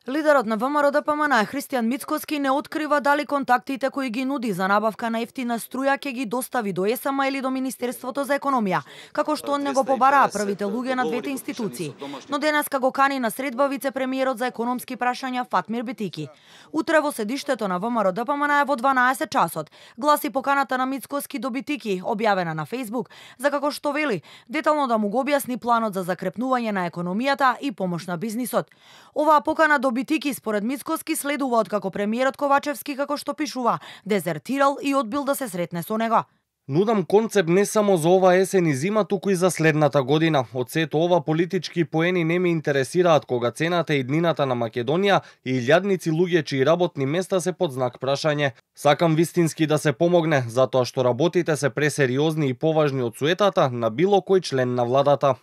Лидерот на ВМРО-ДПМН Христијан Мицкоски не открива дали контактите кои ги нуди за набавка на ефтина струја ќе ги достави до ЕСМ или до Министерството за економија, како што он не го побараа првите луѓе на двете институции. Но денеска го кани на средба вице-премиерот за економски прашања Фатмир Бетики. Утре во седиштето на ВМРО-ДПМН во 12 часот гласи поканата на Мицкоски до Бетики, објавена на Facebook, за како што вели детално да му го објасни планот за закрепнување на економијата и помош на бизнисот. Оваа покана до Битики според Мицкоски следува откако премиерот Ковачевски, како што пишува, дезертирал и одбил да се сретне со него. Нудам концепт не само за ова есен и зима, туку и за следната година. Од сето ова политички поени не ме интересираат кога цената и днината на Македонија и илјадници луѓе чии работни места се под знак прашање. Сакам вистински да се помогне, затоа што работите се пресериозни и поважни од суетата на било кој член на владата.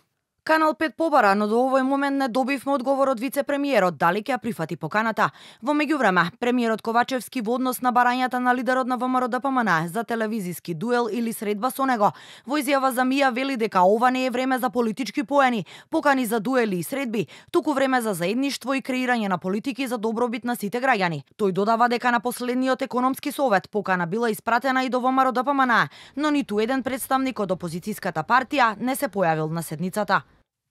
Канал 5 побара, но до овој момент не добивме одговор од вице-премиерот дали ќе ја прифати поканата. Во меѓувреме, премиерот Ковачевски во однос на барањата на лидерот на ВМРО-ДПМН за телевизиски дуел или средба со него, во изјава за МИА вели дека ова не е време за политички поени, покани за дуели и средби, туку време за заедништво и креирање на политики за добробит на сите граѓани. Тој додава дека на последниот економски совет покана била испратена и до ВМРО-ДПМН, но ниту еден представник од опозицијската партија не се појавил на седницата.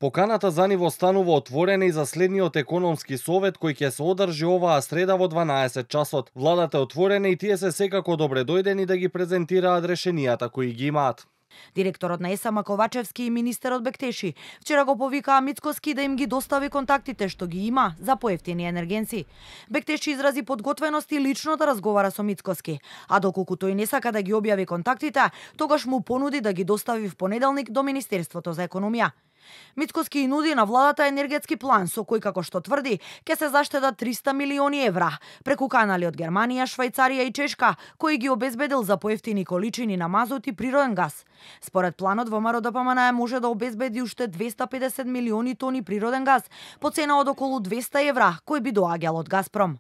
Поканата за ниво станува отворена и за следниот економски совет кој ќе се одржи оваа среда во 12 часот. Владата е отворена и тие се секако добре дојдени да ги презентираат решенијата кои ги имаат. Директорот на ЕСМ Ковачевски и министерот Бектеши вчера го повикаа Мицкоски да им ги достави контактите што ги има за поевтини енергенци. Бектеши изрази подготвеност и лично да разговара со Мицкоски, а доколку тој не сака да ги објави контактите, тогаш му понуди да ги достави в понеделник до Министерството за економија. Мицкоски и нуди на владата енергетски план со кој, како што тврди, ќе се заштедат 300 милиони евра преку канали од Германија, Швајцарија и Чешка, кој ги обезбедил за поевтини количини на мазут и природен газ. Според планот ВМРО-ДПМН може да обезбеди уште 250 милиони тони природен газ по цена од околу 200 евра, кој би доаѓал од Газпром.